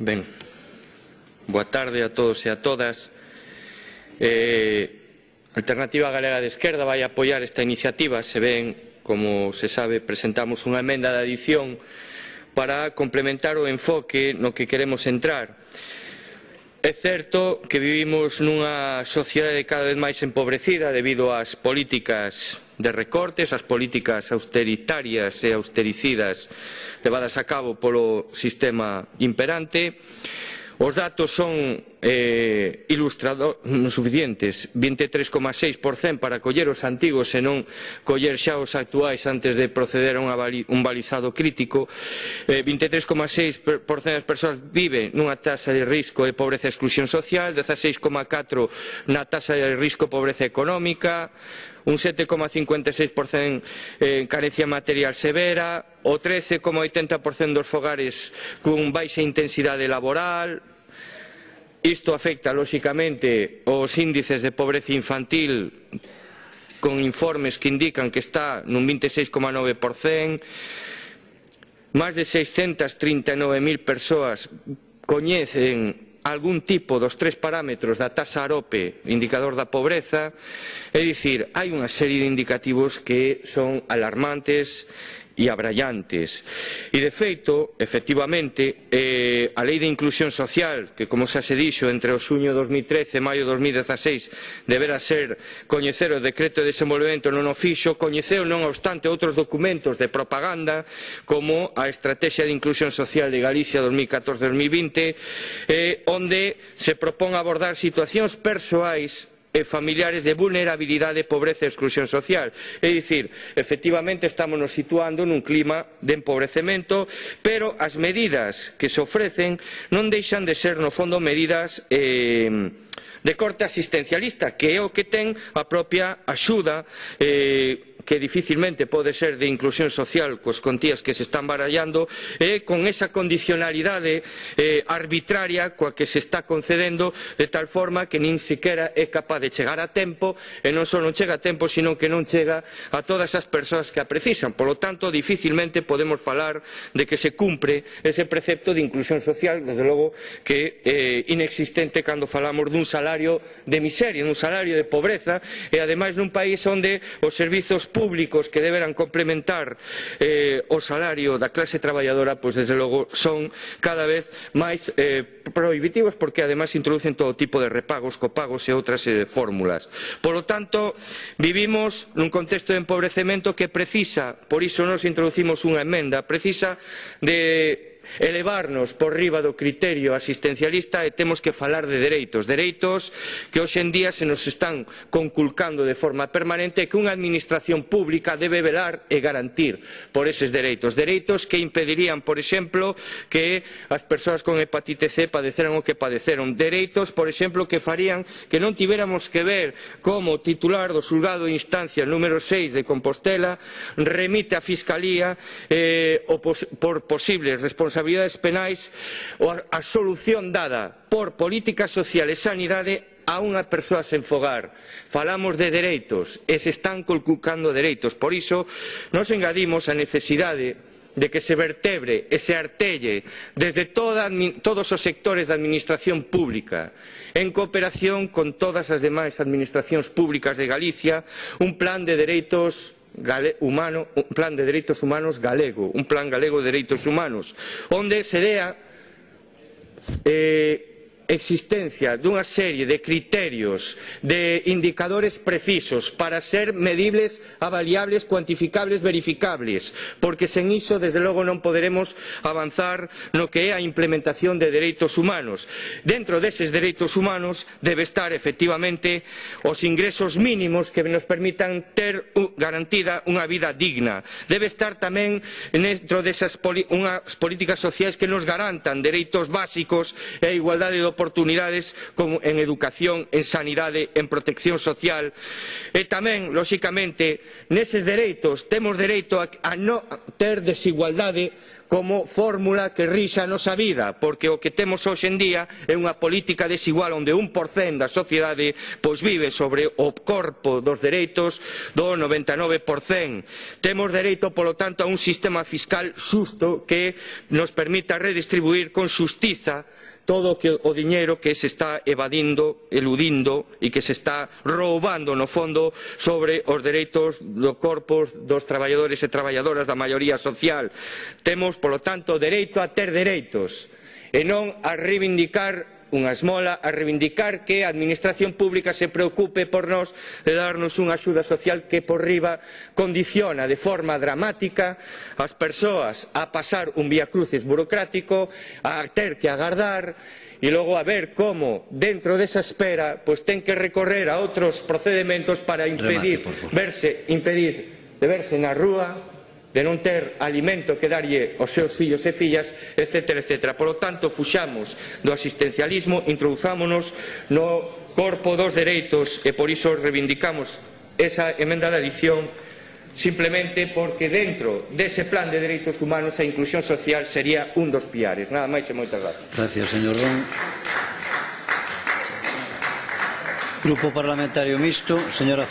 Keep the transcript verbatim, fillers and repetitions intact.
Ben, boa tarde a todos e a todas. Eh, Alternativa Galega de Esquerda vai apoiar esta iniciativa. Se ben, como se sabe, presentamos unha emenda de adición para complementar o enfoque no que queremos entrar. É certo que vivimos nunha sociedade cada vez máis empobrecida debido ás políticas de recortes, ás políticas austeritarias e austericidas levadas a cabo polo sistema imperante. Os datos son eh, ilustrador, suficientes, vinte e tres coma seis por cento para coller os antigos e non coller xa os actuais antes de proceder a unha bali, un balizado crítico. eh, vinte e tres coma seis por cento das persoas vive nunha taxa de risco de pobreza e exclusión social, dezaseis coma catro por cento na taxa de risco de pobreza económica, un sete coma cincuenta e seis por cento en carencia material severa, o trece coma oitenta por cento dos fogares con baixa intensidade laboral. Isto afecta, lóxicamente, os índices de pobreza infantil, con informes que indican que está nun vinte e seis coma nove por cento. Máis de seiscentas trinta e nove mil persoas coñecen algún tipo dos tres parámetros da taxa AROPE, indicador da pobreza. É dicir, hai unha serie de indicativos que son alarmantes e abrallantes. E, de feito, efectivamente, eh, a Lei de Inclusión Social, que, como xa se dixo, entre o xuño de dos mil trece e maio de dos mil dezaseis deberá ser coñecer o decreto de desenvolvemento non o fixo, coñeceu non obstante outros documentos de propaganda como a Estrategia de Inclusión Social de Galicia dos mil catorce a dos mil vinte, eh, onde se propón abordar situacións persoais e familiares de vulnerabilidade, pobreza e exclusión social. É dicir, efectivamente estamos nos situando nun clima de empobrecemento, pero as medidas que se ofrecen non deixan de ser, no fondo, medidas eh, de corte asistencialista, que é o que ten a propia axuda, eh, que dificilmente pode ser de inclusión social coas contías que se están barallando, e con esa condicionalidade eh, arbitraria coa que se está concedendo, de tal forma que nin sequera é capaz de chegar a tempo, e non só non chega a tempo, sino que non chega a todas as persoas que a precisan. Por lo tanto, dificilmente podemos falar de que se cumpre ese precepto de inclusión social, desde logo que é eh, inexistente cando falamos dun salario de miseria, dun salario de pobreza, e ademais nun país onde os servizos públicos que deberán complementar eh, o salario da clase traballadora, pois desde logo son cada vez máis eh, prohibitivos, porque ademais introducen todo tipo de repagos, copagos e outras eh, fórmulas. Por lo tanto, vivimos nun contexto de empobrecemento que precisa, por iso nos introducimos unha emenda, precisa de elevarnos por riba do criterio asistencialista, e temos que falar de dereitos, dereitos que hoxe en día se nos están conculcando de forma permanente, e que unha administración pública debe velar e garantir por eses dereitos, dereitos que impedirían, por exemplo, que as persoas con hepatite C padeceran o que padeceron, dereitos, por exemplo, que farían que non tivéramos que ver como o titular do xulgado de instancia número seis de Compostela remite á Fiscalía eh, o pos por posibles responsabilidades responsabilidades penais ou a solución dada por política social e sanidade a unha persoa sen fogar. Falamos de dereitos e se están conculcando dereitos. Por iso nos engadimos a necesidade de que se vertebre e se artelle desde toda, todos os sectores da administración pública, en cooperación con todas as demais administracións públicas de Galicia, un plan de dereitos Gale, humano, un plan de dereitos humanos galego, un plan galego de dereitos humanos, onde se dea eh, existencia dunha serie de criterios, de indicadores precisos para ser medibles, avaliables, cuantificables, verificables, porque sen iso, desde logo, non poderemos avanzar no que é a implementación de dereitos humanos. Dentro deses dereitos humanos debe estar, efectivamente, os ingresos mínimos que nos permitan ter garantida unha vida digna. Debe estar tamén dentro desas unhas políticas sociais que nos garantan dereitos básicos e a igualdade de oportunidades como en educación, en sanidade, en protección social e tamén, lóxicamente, neses dereitos temos dereito a, a non ter desigualdade como fórmula que rixa a nosa vida, porque o que temos hoxe en día é unha política desigual onde un por cento da sociedade pois vive sobre o corpo dos dereitos do noventa e nove por cento. Temos dereito, polo tanto, a un sistema fiscal xusto que nos permita redistribuir con xustiza todo o diñeiro que se está evadindo, eludindo e que se está roubando no fondo sobre os dereitos do corpo dos traballadores e traballadoras da maioría social. Temos, polo tanto, dereito a ter dereitos e non a reivindicar unha esmola, a reivindicar que a administración pública se preocupe por nós de darnos unha axuda social que por riba condiciona de forma dramática as persoas a pasar un viacrucis burocrático, a ter que agardar e logo a ver como dentro desa espera pois ten que recorrer a outros procedementos para impedir verse, impedir de verse na rúa, de non ter alimento que darlle aos seus fillos e fillas, etcétera, etcétera. Por lo tanto, fuxamos do asistencialismo, introduzámonos no corpo dos dereitos e por iso reivindicamos esa emenda de adición simplemente porque dentro dese plan de dereitos humanos a inclusión social sería un dos piares. Nada máis e moitas gracias. Gracias, señor Ron. Grupo Parlamentario Mixto, señora